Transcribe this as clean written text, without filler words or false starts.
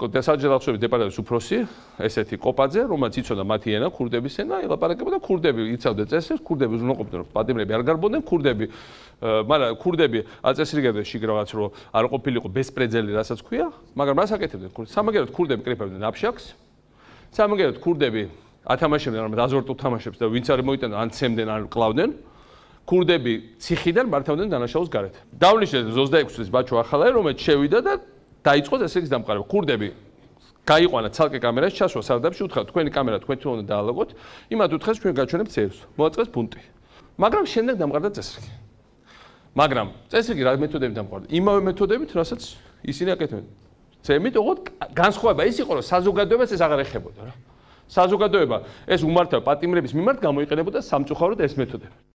დასაჯელახშობის დეპარტამენტის უფროსი, ესეთი კოპაძე, რომელიც იცოდა მათი ენა, ქურდების ენა, ელაპარაკებოდა ქურდები, იცავდა წესრიგს, ქურდები უზრუნველყოფდნენ, რომ პატიმრები არ გარბოდნენ, მაგრამ ქურდები აწესრიგებდნენ შიგ რაღაც რომ არ ყოფილიყო ბესპრეძელი, რასაც ქვია, მაგრამ მას აკეთებდნენ ქურდები. სამაგერად ქურდები კრიფებდნენ აფშაქს. სამაგერად ქურდები ათამაშებდნენ რამე აზორტულ თამაშებს და ვინც არ მოიტანა ან ცემდნენ ან კლავდნენ. ქურდები ციხიდან მართავდნენ დანაშაულს გარეთ. დავნიშნეთ 26 წლის ბაჩო ახალაი, რომელიც შევიდა და დაიწყო წესრიგის დამყარება. ქურდები გაიყვანა ცალკე კამერაში ჩასვა სარდაფში, უთხრა თქვენი კამერა თქვენ თვითონ უნდა დაალაგოთ, იმათ უთხრეს ჩვენ გაჩვენებთ წერს. მოაწყეს პუნქტი. მაგრამ შემდეგ დამყარდა წესრიგი. მაგრამ წესრიგი რა მეთოდებით დამყარდა? იმავე მეთოდებით, რასაც ისინი აკეთებდნენ. ზემით ოღონდ განსხვავება ის იყო, რომ საზოგადოებას ეს აღარ ეხებოდა რა. საზოგადოება ეს უმართავ პატიმრების მიმართ გამოიყენებოდა სამწუხაროდ ეს მეთოდები.